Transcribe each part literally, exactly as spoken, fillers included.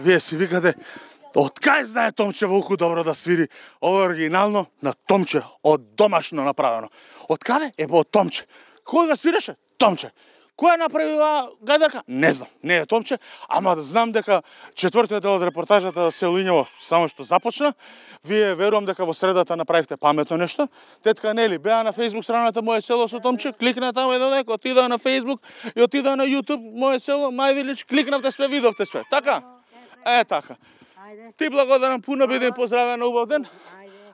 вие си викате, од кај знае Томче Волку добро да свири? Ова е оригинално на Томче, од домашно направено. Од каде? Е, од Томче. Кој го свиреше? Томче. Кој направи оваа гајдарка? Не знам, не е Томче, ама да знам дека четвртиот дел од репортажата за село Ињево само што започна. Вие верувам дека во средата направивте паметно нешто. Тетка Нели беа на Facebook страната Моје село со Томче, кликна таму еден дек, отидаа на Facebook и отидаа на YouTube Моје село, My Village, кликнавте све, видовте све. Така? Е, така. Ти благодарам, пуно бидем поздравен на убав ден.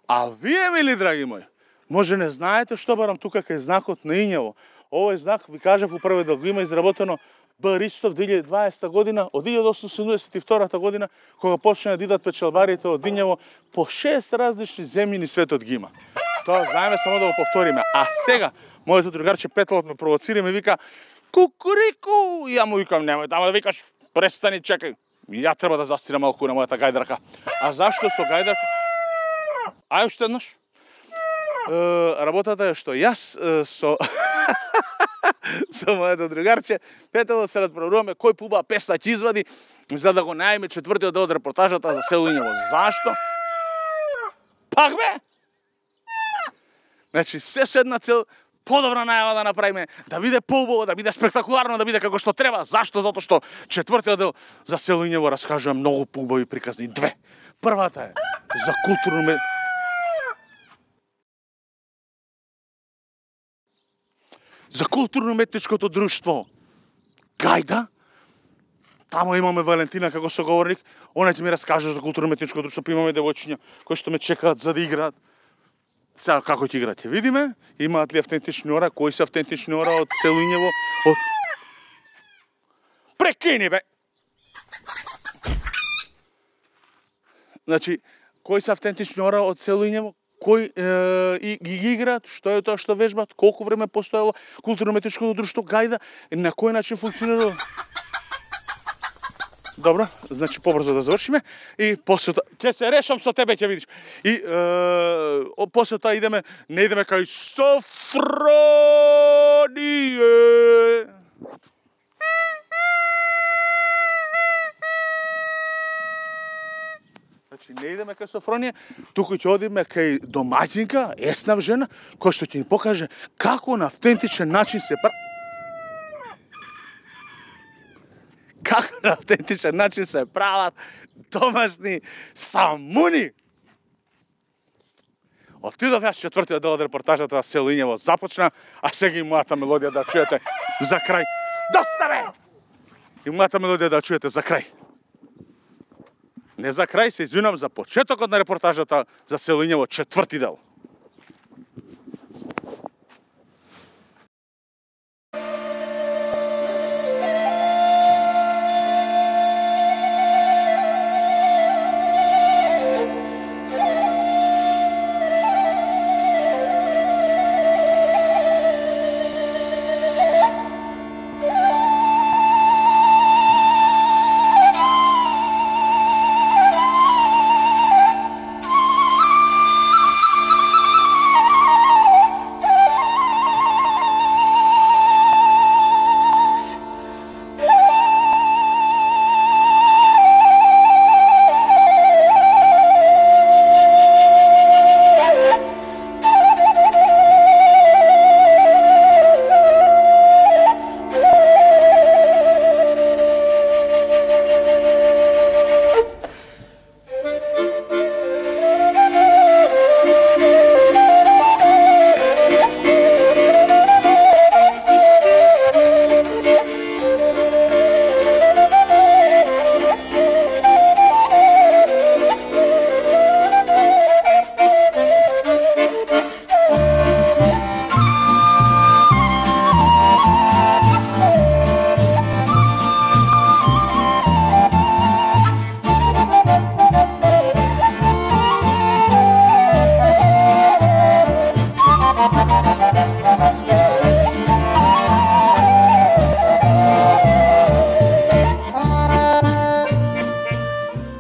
А вие, мили драги мои, може не знаете што барам тука кај знакот на Ињево. Овој знак, ви кажав, у првиот дел го има изработено Б. Ристов две илјади и дваесета година, од илјадесетстотини седумдесет и втора година, кога почна да идат печалбарите од Ињево, по шест различни земји ни светот ги има. Тоа знаеме, само да го повториме. А сега, моето другарче Петлот ме провоцира и ме вика кукурику! И ја му викам, немој тама да викаш, престани, чекај. Ја треба да застирам малку на мојата гајдарка. А зашто со гајдарка? Ај уште еднаш. Работата е што јас со со моето другарче Петело се надправуваме кој пуба песна ќе извади за да го најме четвртиот дел од репортажата за село Ињево. Зашто? Пак бе? Значи, се со една цел, подобра најава да направиме, да биде поубаво, да биде спектакуларно, да биде како што треба. Зашто? Затоа што четвртиот дел за село Ињево раскажува многу поубави приказни. Две. Првата е за културно за културно-уметничкото друштво Гајда. Тамо имаме Валентина како соговорник. Она ќе ми раскаже за културно-уметничкото друштво. Па имаме девојчиња кои што ме чекаат за да играат. Сега како ќе играат ќе видиме. Имаат ли автентични ора? Кои се автентични ора од село Ињево? Од... Прекини бе! Значи, кои се автентични ора од село Ињево? Кој е, и ги играат, што е тоа што вежбат, колку време постоело културно-уметничкото друштво Гајда, на кој начин функционира. Добро, значи побрзо да завршиме и после тоа ќе се решам со тебе, ќе видиш. И е, после тоа идеме, не идеме кај Софроние. Значи, не идеме кај Софронија, туку ќе одиме кај домаќинка, еснав жена, која што ќе ни покаже како на автентичен начин се прави. Како на автентичен начин се прават домашни самуни. Отидов јас четвртиот дел од репортажата за село Ињево започна, а сега и мојата мелодија да чуете за крај. Доставе! И мојата мелодија да чуете за крај. Не за крај, се извинам за почетокот на репортажата за село Ињево, четврти дел.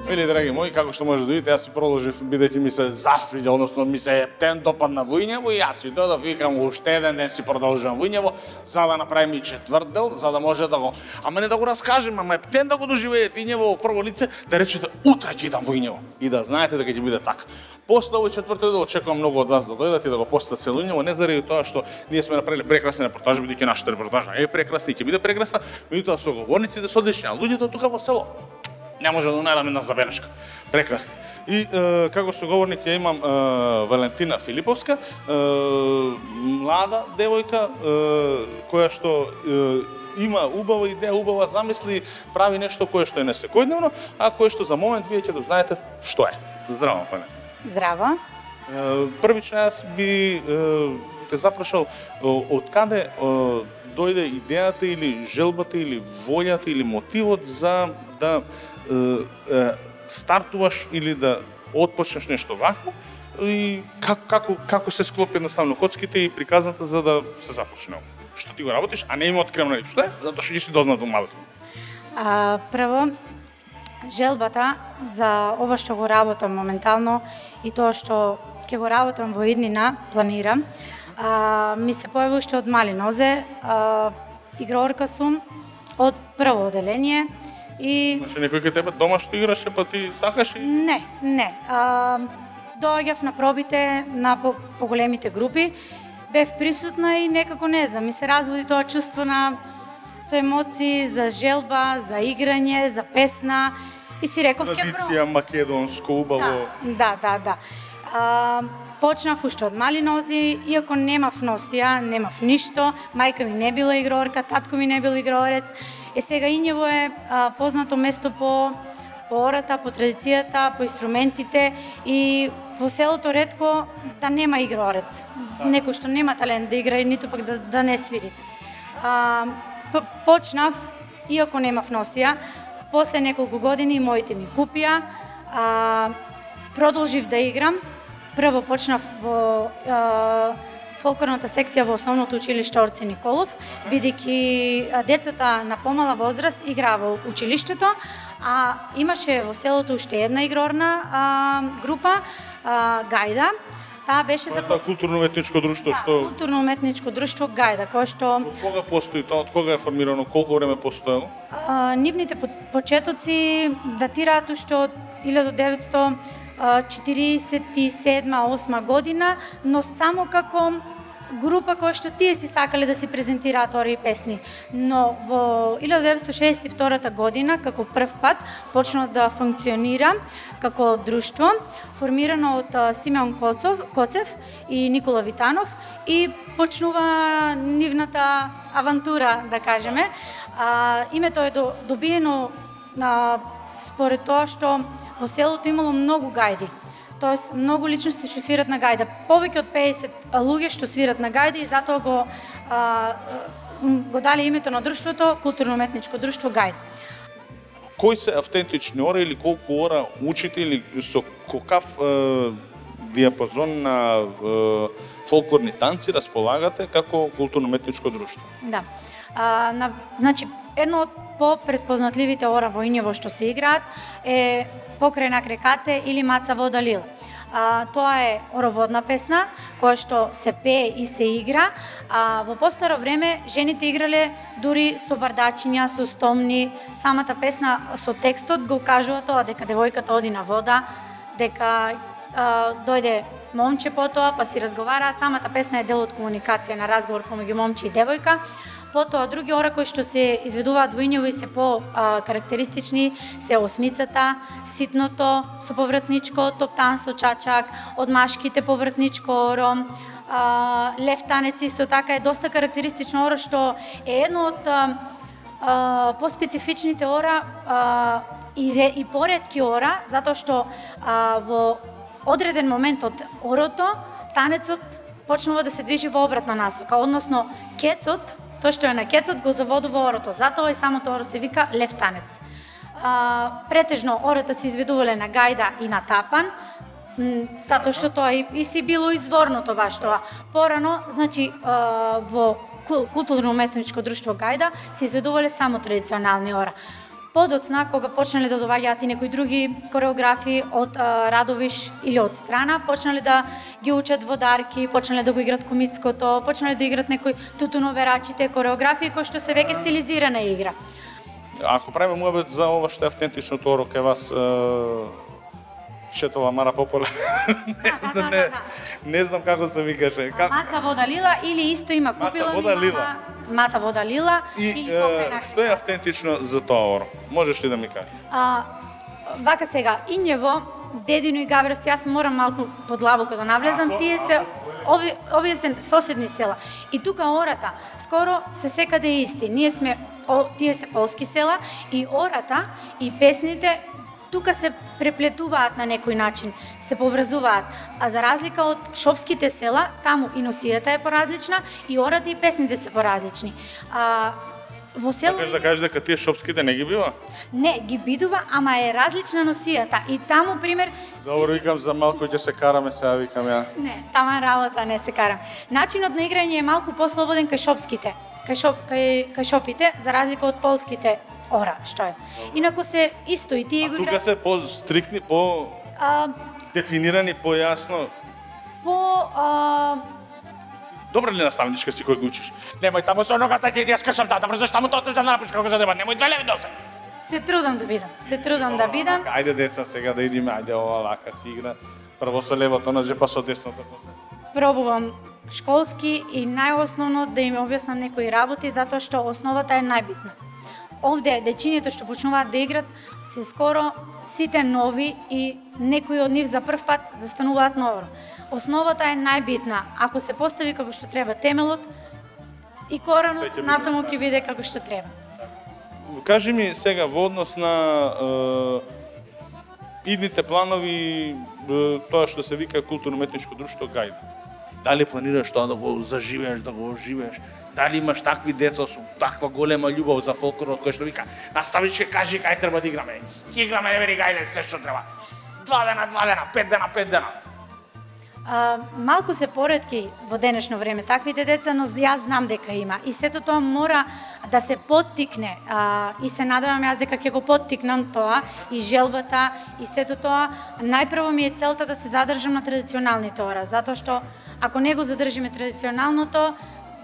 Вели, драги мои, како што може да видите, јас си продолжив бидејќи ми се засвиѓа, односно ми се ден допадна Војнево и јас си додов, викам уште еден ден си продолжувам Војнево, за да направим и четврт дел, за да може да го, ама не да го раскажем, ама ден да го доживеете Војнево во прво лице, да речете утре ќе идам Војнево и да знаете дека ќе биде така. После овој четвртиот дел очекувам многу од вас да дојдат и да го посетат цело Војнево, не заради тоа што ние сме направиле прекрасни репортажи, бидејќи нашата репортажа е прекрасна и ќе биде прекрасна, меѓутоа соговорниците се одлични, а луѓето тука во село не може да најдам една забелешка. Прекрасно. И е, како соговорник ја имам е, Валентина Филиповска, е, млада девојка, е, која што е, има убава идеја, убава замисли, прави нешто кое што е несекојдневно, а кое што за момент вие ќе да знаете што е. Здраво, Фане. Здраво. Е, првично јас би е, те запрашал од каде е, дојде идејата или желбата или волјата или мотивот за да стартуваш или да отпочнеш нешто вакво и како, како, како се склопи едноставно коцките и приказната за да се започне. Што ти го работиш, а не има открем на ништо, затоа што ги си дознат во малото. А, прво, желбата за ова што го работам моментално и тоа што ќе го работам во иднина, планирам, а, ми се појави уште од мали нозе. А, играорка сум од прво оделение. И... Имаше некој кај тебе дома што играше, па ти сакаш и... Не, не. А, доаѓав на пробите на по поголемите групи, бев присутна и некако не знам, ми се разводи тоа чувство на со емоции, за желба, за играње, за песна и си реков ќе пробам. Традиција македонско убаво. Да, да, да. да. А, почнав уште од мали нози, иако немав носија, немав ништо, мајка ми не била играорка, татко ми не бил играорец. Е сега Ињево е а, познато место по, по ората, по традицијата, по инструментите и во селото ретко да нема играорец. Некој што нема талент да игра и ниту пак да, да не свири. А, почнав, иако немав носија, после неколку години моите ми купија, а, продолжив да играм. Прво почнав во а, фолклорната секција во основното училиште Орци Николов, бидејќи децата на помала возраст играа во училиштето, а имаше во селото уште една игрорна а, група, а, Гајда. Таа беше за културно-уметничко друштво да, што културно-уметничко друштво Гајда, кое што од кога постои тоа, од кога е формирано, колку време постоело? А, нивните почетоци датираат уште од илјада деветстотини четиридесет и седма осма година, но само како група која што тие си сакале да си презентираат ори и песни. Но во илјада деветстотини шеесет и втора година, како прв пат, почна да функционира како друштво, формирано од Симеон Коцов, Коцев и Никола Витанов и почнува нивната авантура, да кажеме. А, името е добиено на според тоа што во селото имало многу гајди. Тоест, многу личности што свират на гајда. Повеќе од педесет луѓе што свират на гајда и затоа го, а, го дали името на друштвото Културно-уметничко друштво Гајда. Кои се автентични ора или колку ора учите или со какав е, диапазон на е, фолклорни танци располагате како Културно-уметничко друштво? Да. А, на, значи, едно од по-предпознатливите ора во Ињево што се играат е Покрај на крекате или Маца вода лила. А, тоа е ороводна песна која што се пее и се игра, а во постаро време жените играле дури со бардачиња, со стомни. Самата песна со текстот го кажува тоа дека девојката оди на вода, дека а, дојде момче потоа, па си разговараат. Самата песна е дел од комуникација на разговор помеѓу момче и девојка. Потоа други ора кои што се изведуваат во Ињево и се по а, карактеристични се осмицата, ситното со повратничко, топтан со чачак, од машките повратничко оро, а, лев танец исто така е доста карактеристично оро што е едно од а, а, поспецифичните ора а, и, ре, и поретки ора, затоа што а, во одреден момент од орото танецот почнува да се движи во обратна насока, односно кецот, тоа што е на кецот го заводува орото, затоа и самото оро се вика лев танец. А, претежно ората се изведувале на гајда и на тапан, затоа што тоа и, и си било изворното баш тоа. Порано, значи, а, во Културно-уметничко друштво Гајда се изведувале само традиционални ора. подоцна, кога почнале да доаѓаат и некои други кореографи од а, Радовиш или од страна, почнале да ги учат водарки, почнале да го играт комицкото, почнале да играт некои тутуноверачите, кореографии кои што се веќе стилизирана игра. Ако правиме муабет за ова што е автентичното оро кај вас, шетова Мара Пополе. Да, да, да, да. Не знам како се викаше. Как... Маца вода лила или исто има купила Маца вода ми лила. мама, маца вода лила И или е, покрај што е автентично за тоа оро? Можеш ли да ми кажеш? А, вака сега, Инјево, Дедино и Габревци, јас морам малку подлабоко да навлезам, тие се ови, овие се соседни села. И тука ората скоро се секаде исти. Ние сме о, тие се полски села и ората и песните тука се преплетуваат на некој начин, се поврзуваат. А за разлика од шопските села, таму и носијата е поразлична, и ората и песните се поразлични. А, во село... Сакаш да кажеш дека тие шопските не ги бива? Не, ги бидува, ама е различна носијата. И таму, пример... Добро, викам за малку ќе се караме, сега викам ја. Не, тама работа не се карам. Начинот на играње е малку послободен кај шопските, кај, шоп, кај, кај шопите, за разлика од полските ора, што е. Инаку се исто и тие А го тука играат. се по-стрикни, по... А, дефинирани, по-јасно. по... А, Добра ли наставничка си кој го учиш? Немој таму со ногата ќе ти ја скршам тата, врзаш таму тоа да напиш како за деба, немој две леви носе. се трудам да бидам, се трудам да бидам. Ајде деца сега да идиме, ајде ова лака си игра. Прво со левото нозе, па со десното. Пробувам школски и најосновно да им објаснам некои работи, затоа што основата е најбитна. Овде дечињето што почнуваат да играт се скоро сите нови и некои од нив за прв пат застануваат ново. Основата е најбитна. Ако се постави како што треба темелот и коранот, Се ќе биде, натаму да. ќе биде како што треба. Кажи ми сега во однос на е, идните планови, е, тоа што се вика културно-уметничко друштво Гајда. Дали планираш тоа да го заживееш, да го оживееш? Дали имаш такви деца со таква голема љубов за фолклорот кој што вика наставничке кажи кај треба да играме. Играме не вери гајле се што треба. Два дена, два дена, пет дена, пет дена. А, малку се поретки во денешно време таквите деца, но јас знам дека има. И сето тоа мора да се поттикне. А, и се надевам јас дека ќе го поттикнам тоа и желбата и сето тоа. Најпрво ми е целта да се задржам на традиционалните ора, затоа што ако не го задржиме традиционалното,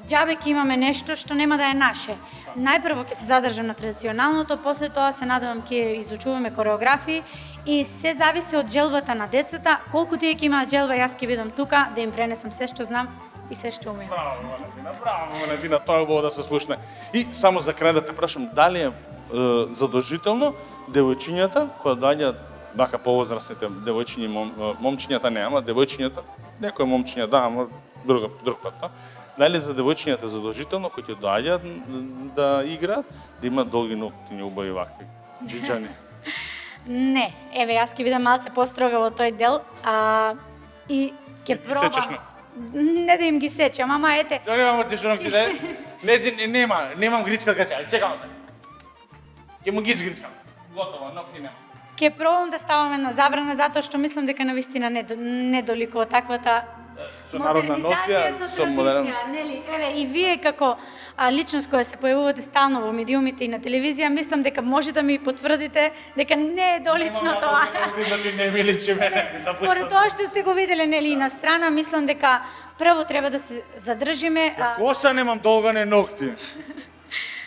џабе ќе имаме нешто што нема да е наше. Најпрво ќе се задржам на традиционалното, после тоа се надевам ќе изучуваме кореографии и се зависи од желбата на децата, колку тие ќе имаат желба, јас ќе бидам тука да им пренесам се што знам и се што умеам. Браво, Валентина, браво, Валентина, тоа е убаво да се слушне. И само за крај да те прашам, дали е, е задолжително девојчињата кои доаѓаат вака повозрастните девојчиња, мом, момчињата не, ама девојчињата, некои момчиња да, ама друг друг пат, да? Дали за девојчињата задолжително кои ќе доаѓаат да играат, да имаат долги ноктиња, убави вакви џиџани? Не, еве јас ќе бидам малце построга во тој дел, а и ќе Ги сечеш пробам. на- Не да им ги сечам, ама ете, Да немам ти што да не, не, нема, немам гричка кај чекам. Ќе му ги изгричкам. Готово, нокти нема. ќе пробам да ставаме на забрана затоа што мислам дека навистина не до- не доликува таквата Со народна носија, со со модерен. традиција, нели? Еве и вие како а, личност која се појавувате стално во медиумите и на телевизија, мислам дека може да ми потврдите дека не е долично тоа. Значи не ми личи мене. Според тоа што сте го виделе нели и на страна, мислам дека прво треба да се задржиме. а, Коса немам долгане ногти.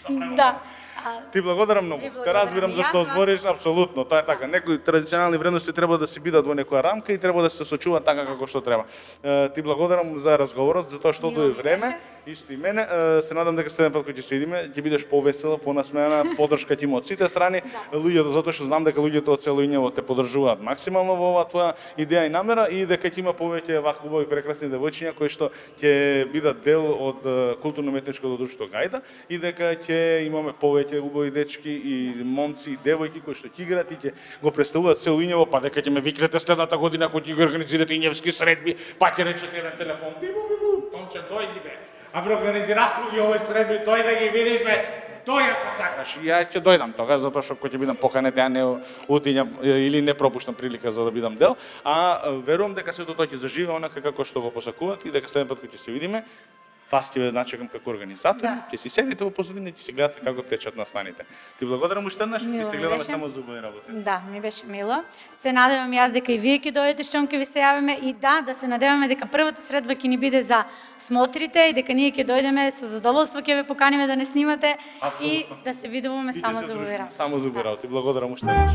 Да. А, Ти благодарам многу. Ви Те благодарам разбирам и зашто јас вас. збориш, апсолутно, тоа е така. Некои традиционални вредности треба да се бидат во некоја рамка и треба да се сочуваат така како што треба. Е, ти благодарам за разговорот, затоа што Мило е ми време, беше. исто и мене. Е, се надам дека следен пат кога ќе се идиме, ќе бидеш повесела, понасмеана, поддршка ти има од сите страни, луѓето, затоа што знам дека луѓето од цело Инјево те поддржуваат максимално во оваа твоја идеја и намера и дека ќе има повеќе вакви убави прекрасни девојчиња кои што ќе бидат дел од е, културно-уметничкото друштво Гајда и дека ќе имаме повеќе убави дечки и момци и девојки кои што ќе играат и ќе го представуваат цело Инјево, па дека ќе ме викнете следната година кога ќе ги организирате инјевски средби, па ќе речете еден телефон, бибу бибу, Томче дојди бе. А бе организираш ги овој средби, тој да ги видиш бе, тој ако сакаш. И ја ќе дојдам тогаш затоа што кога ќе бидам поканет, ја не утињам или не пропуштам прилика за да бидам дел, а верувам дека сето тоа ќе заживе онака како што го посакуваат и дека следен пат кога ќе се видиме, Фас ќе ве начекам како организатор, Да. ќе си седите во позадина и ќе си гледате како течат настаните. Ти благодарам уште еднаш, Мило ќе се ми гледаме беше. само за убави работи. Да, ми беше мило. Се надевам јас дека и вие ќе дојдете штом ќе ви се јавиме и да, да се надеваме дека првата средба ќе ни биде за смотрите и дека ние ќе дојдеме со задоволство ќе ве поканиме да не снимате и Апсолутно. да се видуваме И ќе само се за дружиме убави работи. Само за убави работи. Благодарам уште еднаш.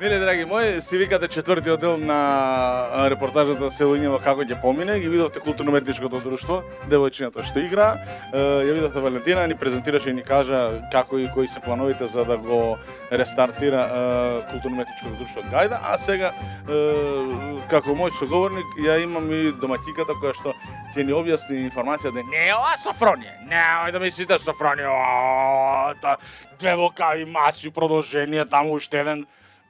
Миле драги мои, си викате четвртиот дел на репортажата Селоњево како ќе помине, ги видовте културно-уметничкото друштво, девојчината што игра, ја видовте Валентина, ни презентираше и ни кажа како и кои се плановите за да го рестартира културно-уметничкото друштво Гајда, а сега како мој соговорник ја имам и домаќиката која што ќе ни објасни информација да не е ова Софронија, не да мислите Софронија, две вокави маси, продолжение, таму уште еден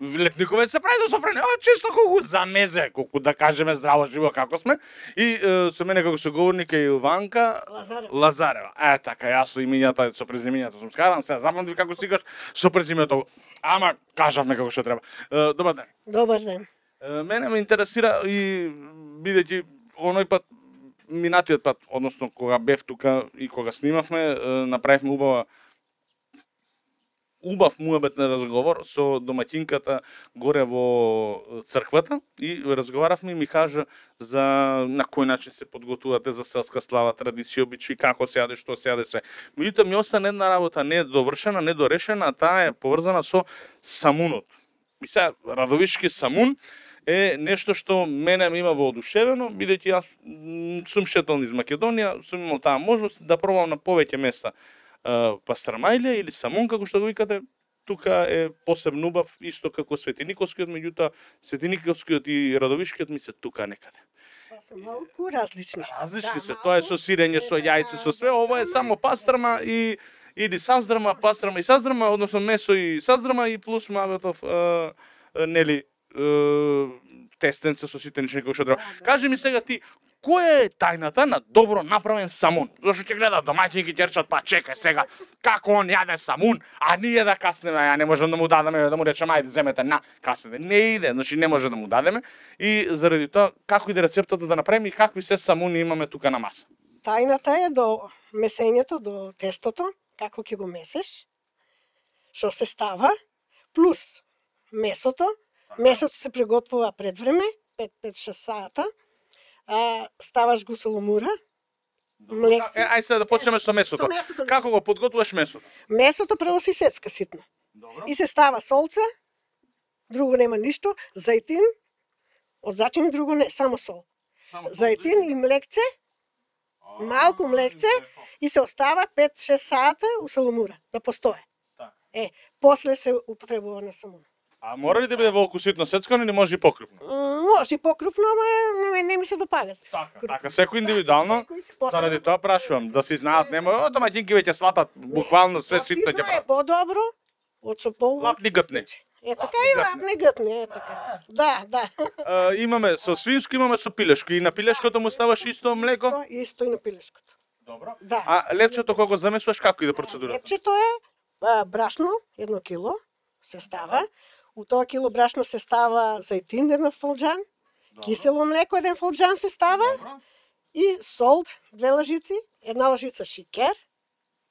летниковец се прави за Софронија, а чисто колку за мезе, колку да кажеме здраво живо како сме. И е, со мене како соговорник е Илванка Лазарева. Лазарева. Е, така, јас со имињата, со презимињата сум скаран, се запамтив како си кажеш, со презимињето, ама кажавме како што треба. Е, добар ден. Добар ден. Е, мене ме интересира и бидејќи оној пат, минатиот пат, односно кога бев тука и кога снимавме, е, направивме убава убав муабетен разговор со домаќинката горе во црквата и разговаравме и ми кажа за на кој начин се подготвувате за селска слава, традиција, обичаи, како се јаде, што се јаде се. Меѓутоа ми остана една работа не довршена, не дорешена, а таа е поврзана со самунот. И сега Радовишки самун е нешто што мене ме има воодушевено, бидејќи јас м, сум шетал низ Македонија, сум имал таа можност да пробам на повеќе места. Пастрамајлија или самун, како што го викате, тука е посебно убав, исто како Светиниколскиот, меѓутоа Светиниколскиот и Радовишкиот ми се тука некаде. Па се малку различни. Различни Да, се, малку. тоа е со сирење, со јајце, со све, ова е само пастрама и или саздрма, пастрама и саздрма, односно месо и саздрма и плюс мабетов е, е, нели е, тестенце со сите нешто како што треба. Да, да. Кажи ми сега ти, која е тајната на добро направен самун? Зашто ќе гледа домаќини ќе речат, па чекај сега, како он јаде самун, а ние да каснеме, ја не можеме да му дадеме, да му речеме ајде земете на каснете. Не иде, значи не може да му дадеме и заради тоа како иде рецептата да направиме и какви се самуни имаме тука на маса. Тајната е до месењето, до тестото, како ќе го месеш, што се става, плюс месото. Месото се приготвува пред време, пет пет шест сата. А, ставаш го соломура, млекци. Е, ај сега да почнеме со месото. Со месото. Како го подготвуваш месото? Месото прво се сецка ситно. Добро. И се става солца, друго нема ништо, зајтин, од зачини друго не, само сол. Зајтин и млекце, малку млекце и се остава пет шест сата у соломура да постое. Така. Е, после се употребува на самун. А мора ли да биде волку ситно сецкано или може и покрупно? М, Може и покрупно, ама не, не ми се допаѓа. Така, така секој индивидуално. Секој си посебно. Заради тоа прашувам, да се знаат, нема, о, домаќинки веќе сватат буквално све ситно ќе Ситно е прават. подобро, од што по Лапни гътни. Е така и лапни гътни, е така. Да, да. А, имаме со свинско, имаме со пилешко и на пилешкото му ставаш исто млеко. Исто, исто и на пилешкото. Добро. Да. А лепчето кога го замесуваш како иде процедурата? Лепчето е а, брашно, едно кило се става. У тоа кило брашно се става зајтин еден фолџан, кисело млеко еден фолџан се става Добро. и сол две лажици, една лажица шикер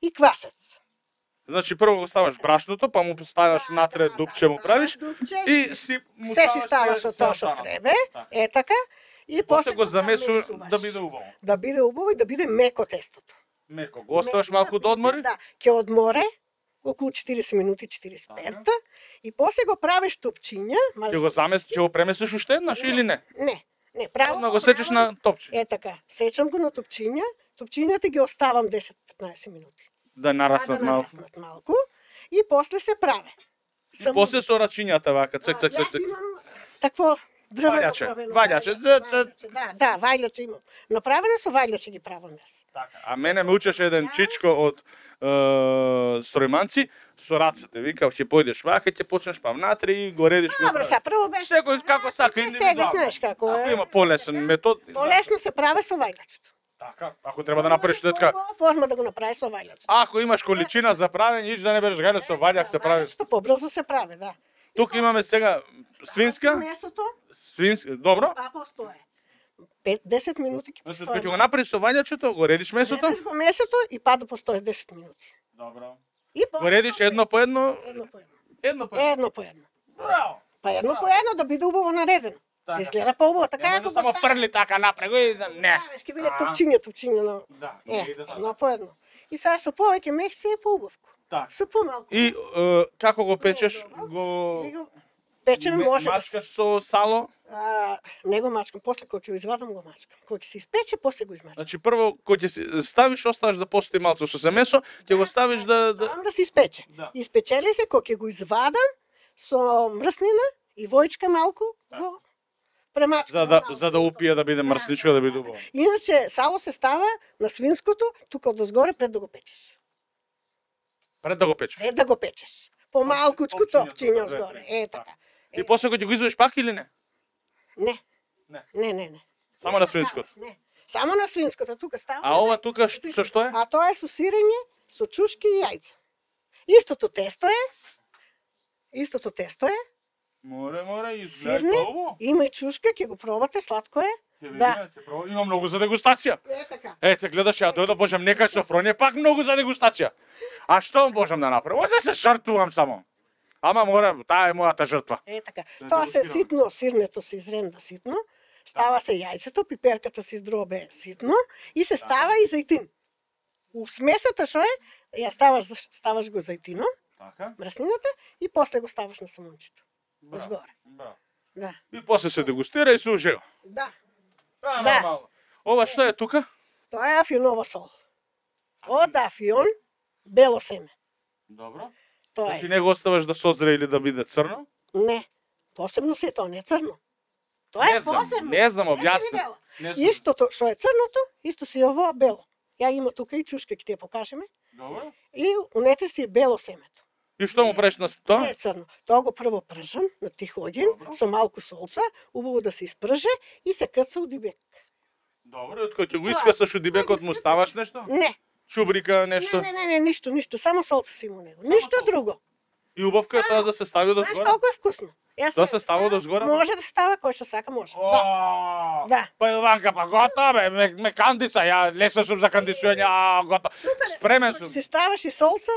и квасец. Значи прво го ставаш брашното, па му ставаш натре дупче му правиш и си му се си ставаш од тоа што треба, е така, и после после го замесуваш да биде убаво. Да биде убаво и да биде меко тестото. Меко, го оставаш малку да одмори? Да, ќе одморе околу четириесет минути, четириесет и пет, и после го правиш топчиња. Ќе го заместиш, ќе го преместиш уште еднаш или не? Не, не, право. Одма го сечеш на топче. Е така, сечам го на топчиња, топчињата ги оставам десет до петнаесет минути. Да нараснат да малку. нараснат малку и после се праве. И после со рачињата вака, цек цек цек цек. Јас имам такво дрвено Ваљаче, правено. ваљаче, да, да. Да, да, вајлаче имам. Направено со вајлаче ги правам јас. Така. А мене ме учеше еден чичко од е, стројманци со рацете. Вика, ќе појдеш вака, ќе почнеш па внатре и го редиш. Добро, са прво беше. Секој како сака Сега индивидуално. знаеш како Ако е. има полесен метод. Полесно се прави со вајлачето. Така, ако треба да направиш така. Форма да го направиш со вајлачето. Ако имаш количина за правење, иш да не береш гајле со ваљак се прави. Што побрзо се прави, да. Тук имаме сега свинска, Месото, свинска, добро. па постое. пет до десет минути ќе Значи, постои. кога ќе го направиш со вањачето, го редиш месото. Редиш го месото и па да постои десет минути. Добро. И Го редиш едно по едно, едно по едно. едно по едно. Едно по едно. Браво. Па едно по едно да биде убаво наредено. Така. Да изгледа поубаво, така Нема ако да го само ставиш. фрли така напрего и да не. Ставиш, ќе биде А. топчиња, топчиња на. Да, Е, иде така. едно по едно. И сега со повеќе мех се е поубавко. Така. Со помалку. И е, како го печеш? Добро. Го И го печеме ме- може да се. мачкаш со сало. А, не го мачкам, после кога ќе го извадам го мачкам. Кога ќе се испече, после го измачкам. Значи прво кога ќе си ставиш, оставаш да постои малку со се месо, ќе го ставиш да да Ставам да се испече. Да. Испечели се, кога ќе го извадам со мрснина и војчка малку, го премачкам. за да малку. за да упие да биде мрсничко, да биде убаво. Иначе сало се става на свинското, тука од озгоре пред да го печеш. Пред да го печеш. Пред да го печеш. Помалкучку Топчиња, топчиња тука, озгоре. две, Е така. така. И после кога ќе го извадиш пак или не? Не. Не. Не, не, не. Само на свинското. Не. Само на свинското, тука става. А ова тука ш- со што е? А тоа е со сирење, со чушки и јајца. Истото тесто е. Истото тесто е. Море, море, Сирне, изгледа убаво. има и чушка, ќе го пробате, сладко е. Ќе видиме, Да. ќе пробам. Има многу за дегустација. Е така. Ете, гледаш, ја дојдов, можам некај со фронје, пак многу за дегустација. А што можам да направам? Да се жртвувам само. Ама мора, таа е мојата жртва. Е така. Да Тоа се дегустираме. ситно, сирнето се изренда ситно. Става се јајцето, пиперката се издробе ситно и се става и зајтин. У смесата што е, ја ставаш ставаш го зајтино, Така? мрснината и после го ставаш на самунчето. Браво, Озгоре. браво. Да. И после се дегустира и се ужива. Да. А, Да. нормално. Ова што е тука? Тоа е афионова сол. Од афион, бело семе. Добро. Тоа Значи е. не го оставаш да созре или да биде црно? Не. Посебно се тоа не е црно. Тоа е Не знам, посебно. не знам, Не си објасни. видела. Не знам. Истото што е црното, исто си ова бело. Ја има тука и чушка, ќе ти ја покажеме. Добро. И унетре си бело семето. И што му правиш на Не тоа? е црно. Тоа го прво пржам на тих огин, Добро. со малку солца, убаво да се испрже и се каца у дибек. Добро, од кој ќе го И тоа. искасаш од дибекот му ставаш нешто? Не, Чубрика, не, нешто? не, не, не, ништо, ништо, само солца си му него. Ништо солца. друго. И убавка е тоа да се стави до Знаеш згора? колку е вкусно? Јас Да не- се става до згора? Може да става кој што сака, може. Да. О, Да. Па Илванка, па готово бе, ме, ме кандиса, ја лесно сум за кандисување, а готово. Спремен сум. Си ставаш и солца,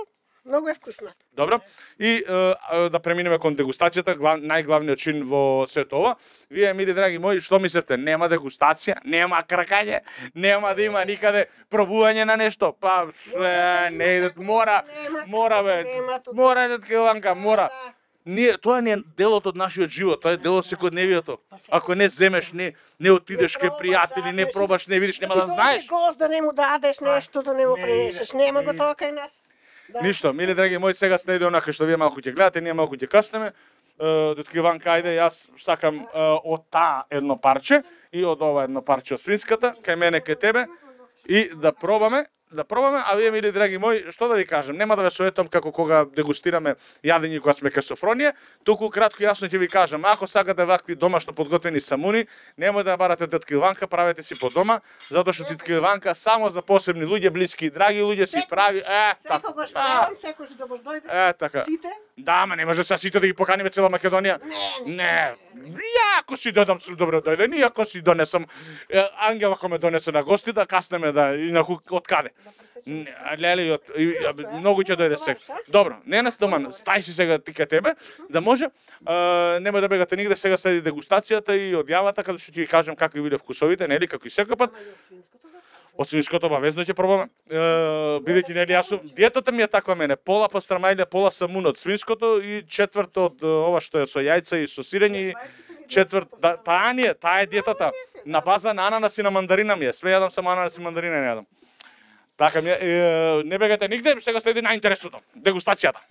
многу е вкусна. Добро. И е, е, да преминеме кон дегустацијата, глав, најглавниот чин во сето ова. Вие, мили драги мои, што мислевте? Нема дегустација, нема кркање, нема да има никаде пробување на нешто. Па, е, не идат, мора, Нема, мора бе, нема тука. мора идат Илванка, мора. Да. Ние, тоа не е делот од нашиот живот, тоа е дел од секојдневието. Па се- Ако не земеш, не не отидеш Не кај пробаш, пријатели, не да, пробаш, не видиш, нема да ти дојде знаеш. гост да не му дадеш нешто, да не му не пренесеш. иде, Нема не го иде. тоа кај нас. Да. Ништо, мили драги мои, сега следи онака што вие малку ќе гледате, ние малку ќе каснеме. Детки Иванка, ајде, јас сакам е, од таа едно парче и од ова едно парче од свинската, кај мене, кај тебе, и да пробаме, да пробаме, а вие, мили драги мои, што да ви кажем, нема да ве советам како кога дегустираме јадење кога сме кај Софронија, туку кратко и јасно ќе ви кажам, ако сакате вакви домашно подготвени самуни, немој да ја барате тетка Иванка, правете си по дома, затоа што тетка Иванка само за посебни луѓе, блиски и драги луѓе си прави, е, така. Секогаш правам, секогаш да му дојде. Е, така. Сите. Да, ама не може се сите да ги поканиме цела Македонија. Не, Не. Јако си додам сум добро дојде, иако си донесам е, Ангела кој ме донесе на гости да каснеме да и на од каде. Леле, од, и, и, многу ќе дојде сега. Добро, не нас доман, стај си сега ти кај тебе, да може, а, нема да бегате нигде, сега следи дегустацијата и одјавата, каде што ќе ви кажам какви биле вкусовите, нели, како и секој пат. Од свинското обавезно ќе пробаме. Е, бидејќи нели јас сум, диетата ми е таква мене, пола пастрамајле, пола самун од свинското и четврт од ова што е со јајца и со сирење и четврт, да, таа ни е, таа е диетата. На база на ананас и на мандарина ми е. Све јадам само ананас и мандарина не јадам. Така ми е, е, не бегате нигде, сега следи најинтересното, дегустацијата.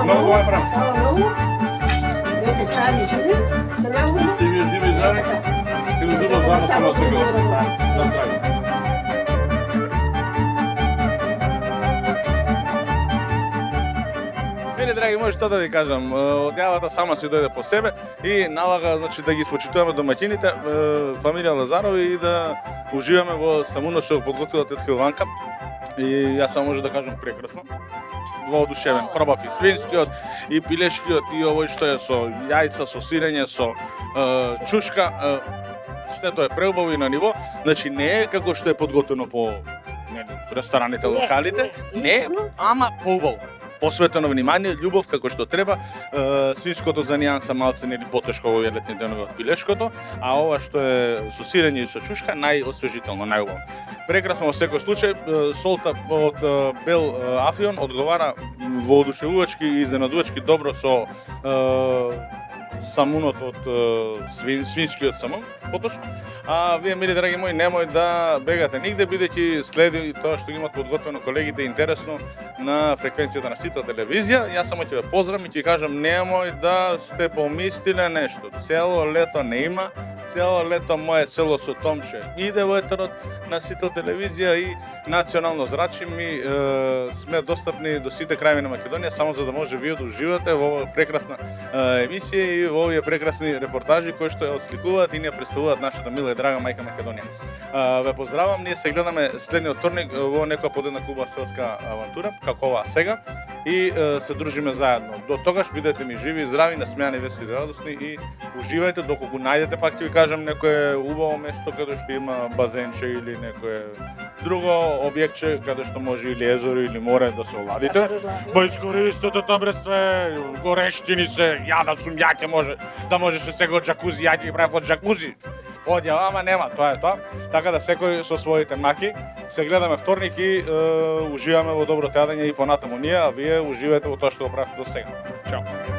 Многу е прав. Фала многу. Дете стари живи, се најубаво. Сте ви живи заради? Ти го зубав заедно само сега. На трага. Мене, драги мои, што да ви кажам, одјавата сама си дојде по себе и налага, значи, да ги испочитуваме домаќините, фамилија Лазарови и да уживаме во самунот што го подготвила тетка Илванка. И јас само може да кажам прекрасно. Воодушевен, пробав и свинскиот, и пилешкиот, и овој што е со јајца, со сирење, со е, чушка. Е, сето е преубаво и на ниво. Значи не е како што е подготвено по не, рестораните, локалите. Не, ама поубаво. Посветено внимание, љубов како што треба. Е, свинското за нијанса малце нели потешко во летни денови од пилешкото, а ова што е со сирење и со чушка најосвежително, најубаво. Прекрасно во секој случај, солта од бел афион одговара воодушевувачки и изненадувачки добро со е, самунот од свин, свинскиот самун, поточно. А вие, мили драги мои, немој да бегате нигде, бидејќи следи тоа што имат подготвено колегите интересно на фреквенцијата на Сител телевизија. Јас само ќе ве поздравам и ќе кажам, немој да сте помислиле нешто. Цело лето не има, цело лето мое село со Томче иде во етерот на Сител телевизија и национално зрачи ми е, сме достапни до сите крајеви на Македонија, само за да може вие да уживате во оваа прекрасна е, емисија и во овие прекрасни репортажи кои што ја отсликуваат и ни ја представуваат нашата мила и драга мајка Македонија. Е, ве поздравам, ние се гледаме следниот вторник во некоја подедна Куба селска авантура, како оваа сега, и е, се дружиме заедно. До тогаш бидете ми живи и здрави, насмејани, весели, радосни и уживајте доколку најдете, пак ќе ви кажам, некое убаво место каде што има базенче или некое друго објектче каде што може или езеро или море да се оладите. Па искористете табре све, горештини се, ја да сум ја ќе може, да можеше сега од джакузи, ја ќе ги правев од джакузи. Одјава, ама нема, тоа е тоа. Така да секој со своите маки се гледаме вторник и е, уживаме во добро јадење и понатаму ние, а вие уживате во тоа што го правите до сега. Чао.